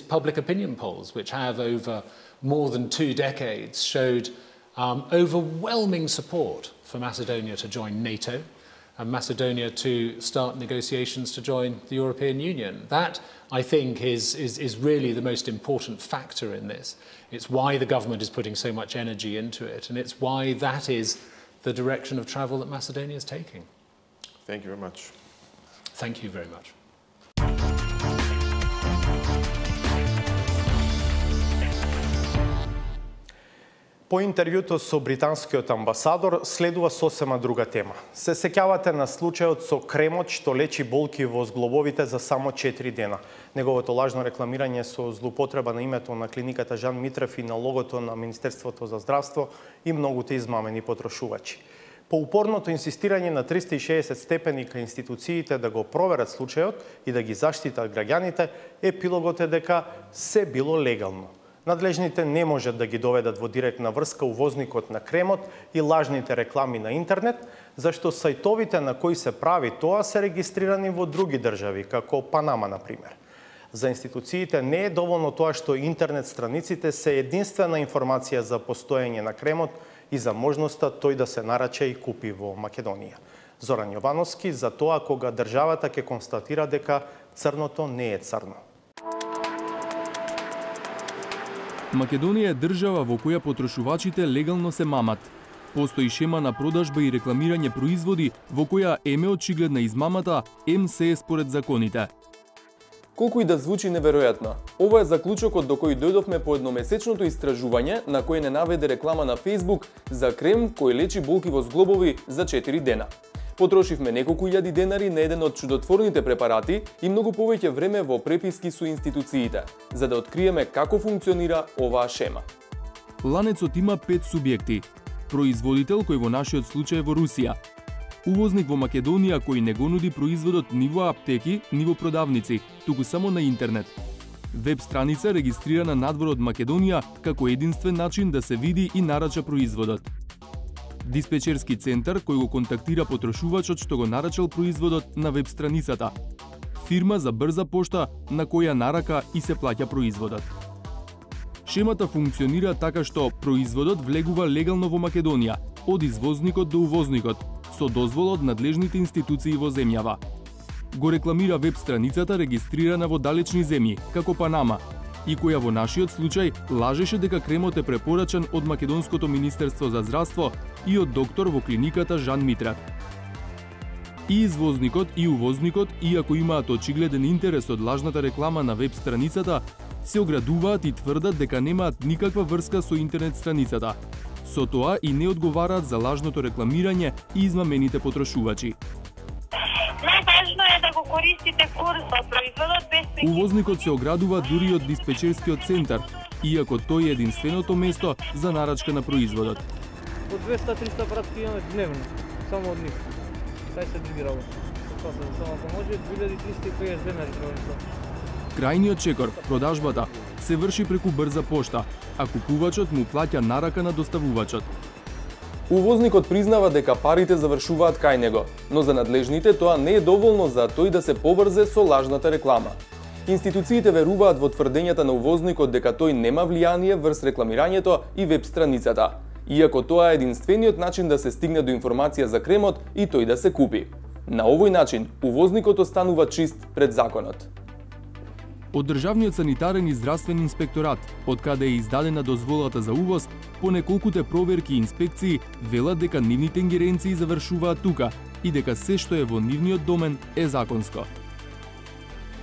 public opinion polls, which have over more than 2 decades showed overwhelming support for Macedonia to join NATO and Macedonia to start negotiations to join the European Union. That, I think, is really the most important factor in this. It's why the government is putting so much energy into it, and it's why that is the direction of travel that Macedonia is taking. Thank you very much. Thank you very much. По интервјуто со британскиот амбасадор следува сосема друга тема. Се сеќавате на случајот со кремот што лечи болки во зглобовите за само 4 дена. Неговото лажно рекламирање со злоупотреба на името на клиниката Жан Митрев и на логото на Министерството за здравство и многуте измамени потрошувачи. По упорното инсистирање на 360 степени кај институциите да го проверат случајот и да ги заштитат граѓаните, епилогот е дека се било легално. Надлежните не можат да ги доведат во директна врска увозникот на кремот и лажните реклами на интернет, зашто сајтовите на кои се прави тоа се регистрирани во други држави, како Панама, например. За институциите не е доволно тоа што интернет страниците се единствена информација за постоење на кремот и за можноста тој да се нарача и купи во Македонија. Зоран Јовановски за тоа кога државата ќе констатира дека црното не е црно. Македонија е држава во која потрошувачите легално се мамат. Постои шема на продажба и рекламирање производи во која еме очигледна измамата, се е според законите. Колку и да звучи неверојатно, ова е заклучокот до кој дојдовме по едномесечното истражување на кој не наведе реклама на Facebook за крем кој лечи болки во зглобови за 4 дена. Потрошивме неколку илјади денари на еден од чудотворните препарати и многу повеќе време во преписки со институциите, за да откриеме како функционира оваа шема. Ланецот има 5 субјекти. Производител кој во нашиот случај е во Русија. Увозник во Македонија кој не го нуди производот ни во аптеки, ни во продавници, туку само на интернет. Веб страница регистрирана надвор од Македонија како единствен начин да се види и нарача производот. Диспечерски центар кој го контактира потрошувачот што го нарачал производот на веб страницата. Фирма за брза пошта на која нарака и се плаќа производот. Шемата функционира така што производот влегува легално во Македонија, од извозникот до увозникот, со дозвола од надлежните институции во земјава. Го рекламира веб страницата регистрирана во далечни земји, како Панама, и која во нашиот случај лажеше дека кремот е препорачан од Македонското Министерство за здравство и од доктор во клиниката Жан Митрев. И извозникот и увозникот, иако имаат очигледен интерес од лажната реклама на веб страницата, се оградуваат и тврдат дека немаат никаква врска со интернет страницата. Со тоа и не одговараат за лажното рекламирање и измамените потрошувачи. Најважно е да го користите курсот, производот без прекин. Увозникот се оградува дури од диспечерскиот центар, иако тој е единственото место за нарачка на производот. По 200-300 пратки имаме дневно, само од нив. Кај се други работи. Само ако може, 2350 денари треба. Крајниот чекор, продажбата, се врши преку брза пошта, а купувачот му плаќа нарака на доставувачот. Увозникот признава дека парите завршуваат кај него, но за надлежните тоа не е доволно за тој да се побрзе со лажната реклама. Институциите веруваат во тврдењата на увозникот дека тој нема влијание врз рекламирањето и веб страницата, иако тоа е единствениот начин да се стигне до информација за кремот и тој да се купи. На овој начин, увозникот останува чист пред законот. Од Државниот санитарен и здравствен инспекторат, од каде е издадена дозволата за увоз, по неколкуте проверки и инспекции велат дека нивните ингеренции завршуваат тука и дека се што е во нивниот домен е законско.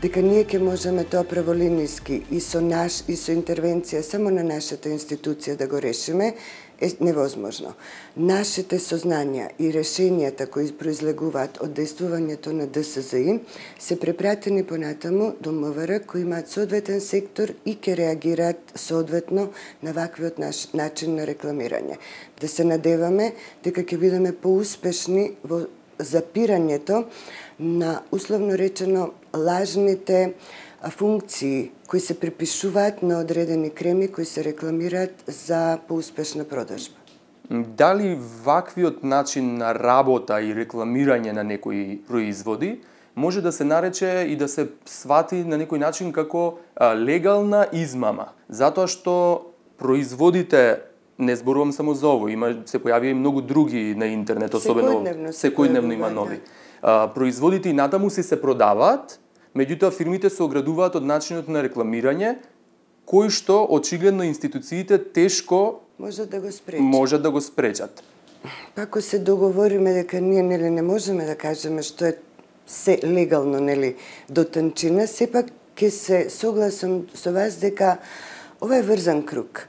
дека ние ќе можеме тоа праволиниски и со интервенција само на нашата институција да го решиме, е невозможно. Нашите сознанија и решенијата кои произлегуваат од дејствувањето на ДСЗИ се препратени понатаму до МВР кои имаат соодветен сектор и ќе реагираат соодветно на ваквиот начин на рекламирање. Да се надеваме дека ќе бидеме поуспешни во запирањето на, условно речено, лажните функции кои се припишуваат на одредени креми кои се рекламираат за поуспешна продажба. Дали ваквиот начин на работа и рекламирање на некои производи може да се нарече и да се свати на некој начин како легална измама? Затоа што производите, не зборувам само за ово, се појавија и многу други на интернет, особено секојдневно има нови. Производите и натаму се продаваат, меѓутоа фирмите се оградуваат од начинот на рекламирање, кој што очигледно институциите тешко можат да го спречат. Ако се договориме дека ние не можеме да кажеме што е се легално до танчина, сепак ќе се согласам со вас дека ова е врзан круг.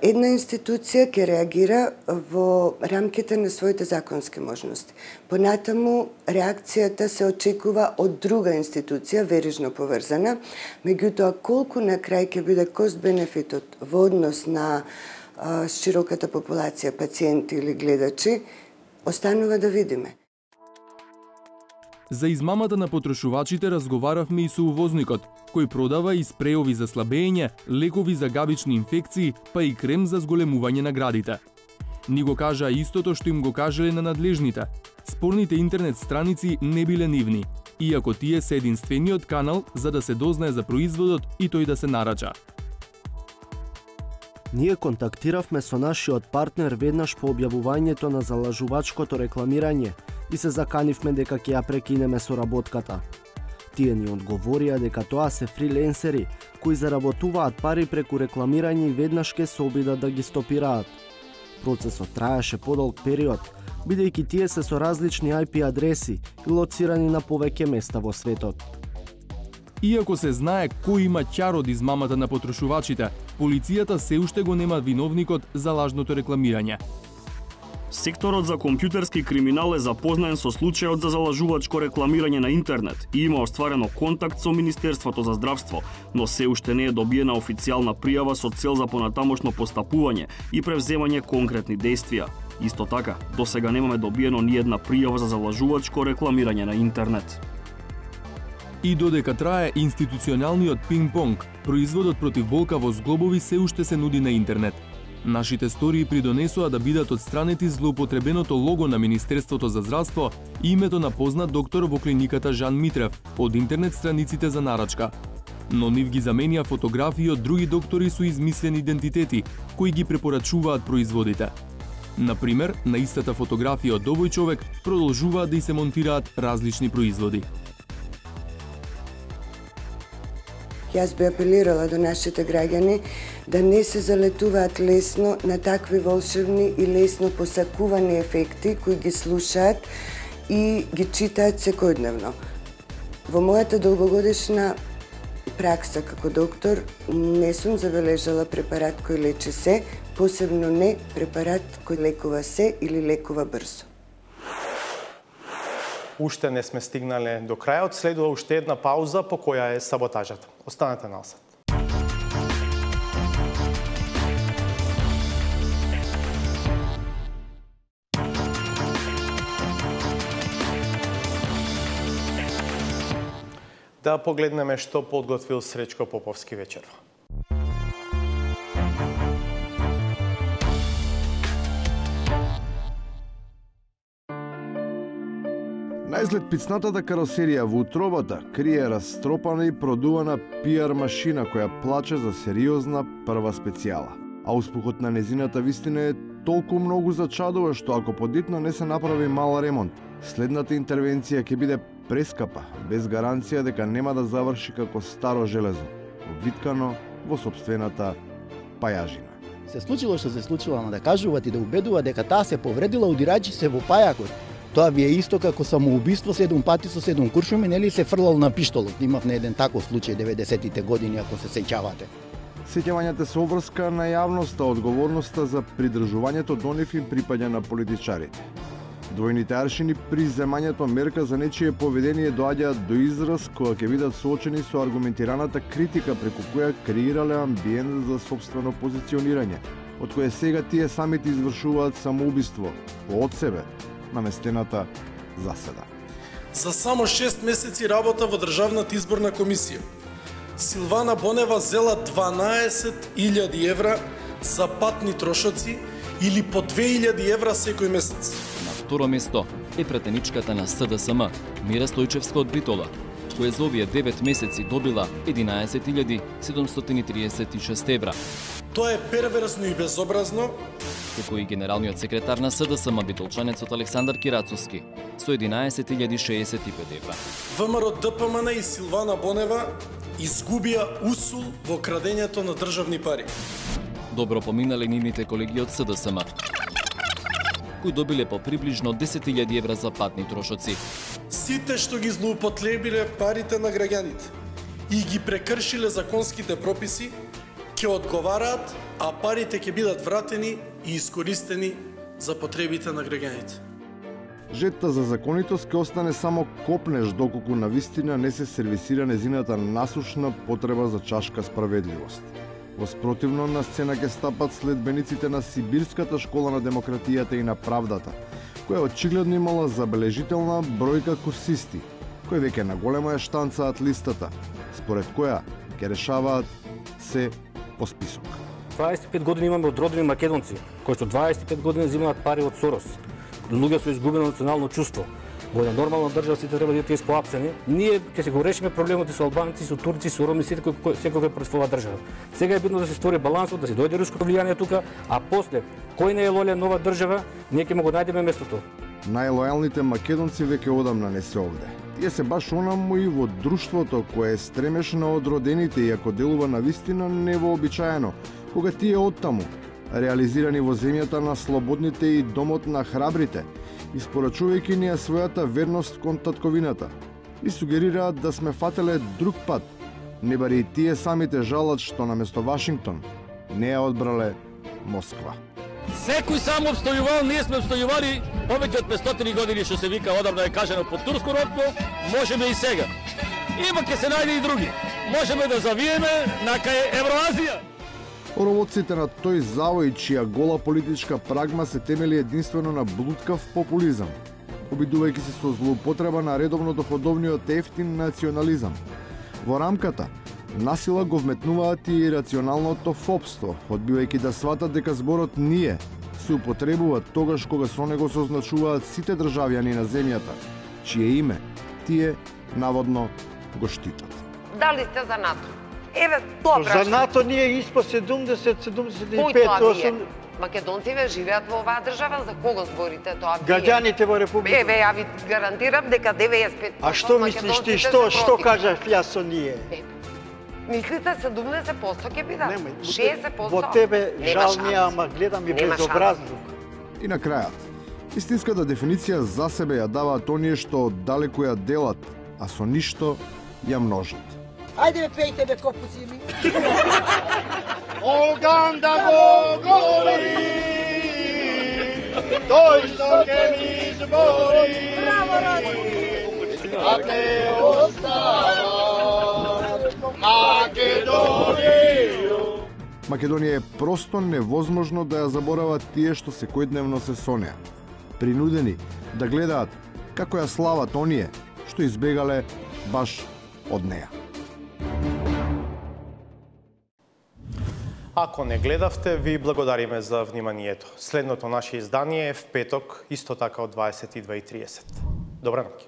Една институција ќе реагира во рамките на своите законски можности. Понатаму, реакцијата се очекува од друга институција, верижно поврзана, меѓутоа колку на крај ќе биде кост-бенефитот во однос на широката популација, пациенти или гледачи, останува да видиме. За измамата на потрошувачите разговаравме и со увозникот, кој продава и спреови за слабење, лекови за габични инфекции, па и крем за зголемување на градите. Ни го кажа истото што им го кажале на надлежните. Спорните интернет страници не биле нивни, иако тие се единствениот канал за да се дознае за производот и тој да се нарача. Ние контактиравме со нашиот партнер веднаш по објавувањето на залажувачкото рекламирање и се заканивме дека ќе ја прекинеме соработката. Тие ни одговорија дека тоа се фриленсери кои заработуваат пари преку рекламирање и веднаш ќе се обидат да ги стопираат. Процесот траеше подолг период, бидејќи тие се со различни IP адреси и лоцирани на повеќе места во светот. Иако се знае кој има ќар од измамата на потрошувачите, полицијата се уште го нема виновникот за лажното рекламирање. Секторот за компјутерски криминал е запознаен со случајот за залажувачко рекламирање на интернет и има остварено контакт со Министерството за здравство, но се уште не е добиена официјална пријава со цел за понатамошно постапување и превземање конкретни дејствија. Исто така, досега немаме добиено ни една пријава за залажувачко рекламирање на интернет. И додека трае институционалниот пинг-понг, производот против болка во зглобови се уште се нуди на интернет. Нашите стории придонесоа да бидат отстранети злоупотребеното лого на Министерството за здравство и името на познат доктор во клиниката Жан Митрев од интернет страниците за нарачка. Но нив ги заменија фотографии од други доктори со измислени идентитети, кои ги препорачуваат производите. Например, на истата фотографија од овој човек продолжуваат да и се монтираат различни производи. Јас би апелирала до нашите граѓани да не се залетуваат лесно на такви волшебни и лесно посакувани ефекти кои ги слушаат и ги читаат секојдневно. Во мојата долгогодишна пракса како доктор не сум забележала препарат кој лечи се, посебно не препарат кој лекува се или лекува брзо. Уште не сме стигнале до крајот, следува уште една пауза по која е саботажата. Останете на осад. Да погледнеме што подготвил Сречко Поповски вечерва. Наизглед пицнатата каросерија во утробата крие растропана и продувана PR машина која плаче за сериозна прва специјала. А успехот на незината вистина е толку многу зачадува што ако подитно не се направи мал ремонт, следната интервенција ќе биде прескапа, без гаранција дека нема да заврши како старо железо, обвиткано во сопствената пајажина. Се случило што се случило, ама да кажуваат и да убедуваат дека таа се повредила удирајќи се во пајакот. Тоа ви е исто како самоубиство 7 пати со 7 куршуми, нели се фрлал на пиштолот. Имав на еден таков случај 90-тите години, ако се сеќавате. Сеќавањата се обврска на јавноста, одговорноста за придржувањето до нив им припаѓа на политичарите. Двојните аршини при земањето мерка за нечие поведение доаѓаат до израз кога ќе бидат соочени со аргументираната критика преку која креирале амбиент за сопствено позиционирање, од кое сега тие самите извршуваат самоубиство од себе на местената заседа. За само 6 месеци работа во Државната изборна комисија, Силвана Бонева зела 12.000 евра за патни трошоци или по 2.000 евра секој месец. На второ место е претеничката на СДСМ, Мира Стојчевска од Битола, која за овие 9 месеци добила 11.736 евра. Тоа е перверзно и безобразно. Како и генералниот секретар на СДСМ битолчанецот Александар Кирацовски со 11.065 евра. ВМРО ДПМН и Силвана Бонева изгубија усул во крадењето на државни пари. Добро поминале нивните колеги од СДСМ, кои добиле по приближно 10.000 евра за патни трошоци. Сите што ги злоупотребиле парите на граѓаните и ги прекршиле законските прописи, ќе одговараат, а парите ќе бидат вратени и искористени за потребите на граѓаните. Жетта за законитост ќе остане само копнеш доколку навистина не се сервисира незината насушна потреба за чашка справедливост. Воспротивно на сцена ќе стапат следбениците на Сибирската школа на демократијата и на правдата, која очигледно имала забележителна бројка курсисти, кои веќе на голема ја штанцаат листата, според која ќе решаваат се по список. 25 години имаме одродени македонци, кои што 25 години земаат пари од Сорос. Луѓе со изгубено национално чувство. Во една нормална држава сите треба да бидат испоапсени. Ние ќе се го решиме проблемот со албанци, со турци, со роми, сите секој против оваа држава. Сега е битно да се створи балансот, да се дојде руското влијание тука, а после кој не е лојален нова држава, ние ќе му го најдеме местото. Најлојалните македонци веќе одамна не се овде. Тие се баш онаму и во друштвото кое е стремеш на одродените, иако делува на вистина невообичаено, кога тие оттаму, реализирани во земјата на слободните и домот на храбрите, испорачувајќи ни својата верност кон татковината, и сугерираат да сме фателе друг пат, не бари и тие самите жалат што наместо Вашингтон не ја одбрале Москва. Секој само обстојувал, ние сме обстојували повеќе од 500 години, што се вика одамна е кажано под турско робство, можеме и сега. Има ќе се најде и други. Можеме да завиеме на кај Евроазија. Оровоците на тој завој, чија гола политичка прагма се темели единствено на блуткав популизам, обидувајќи се со злоупотреба на редовно доходовниот ефтин национализам. Во рамката, насила го вметнуваат и рационалното фопство, одбивајќи да сватат дека зборот ние се употребува тогаш кога со него се означуваат сите државјани на земјата, чие име тие наводно го штитат. Дали сте за НАТО? Еве, тоа прашање. За НАТО ние испо 70-75-8... Македонците живеат во оваа држава, за кого зборите тоа? Граѓаните во Република. Еве, ја ви гарантирам дека 95% А што мислиш ти, што кажав јас со ние? Мислите 70% ќе бидат? 60%? Во тебе жал ние, ама гледам и безобразлук. И на крајот, истинската дефиниција за себе ја даваат оние што далеку ја делат, а со ништо ја множат. Ајде бе, пејте бе, копуци ми. Оган да го говори, тој што ке ми избори, а те остава Македонија. Македонија е просто невозможно да ја заборават тие што секојдневно се со неа. Принудени да гледаат како ја слават оние што избегале баш од неа. Ако не гледавте, ви благодариме за вниманието. Следното наше издание е в петок, исто така од 22:30. Добра ноќ.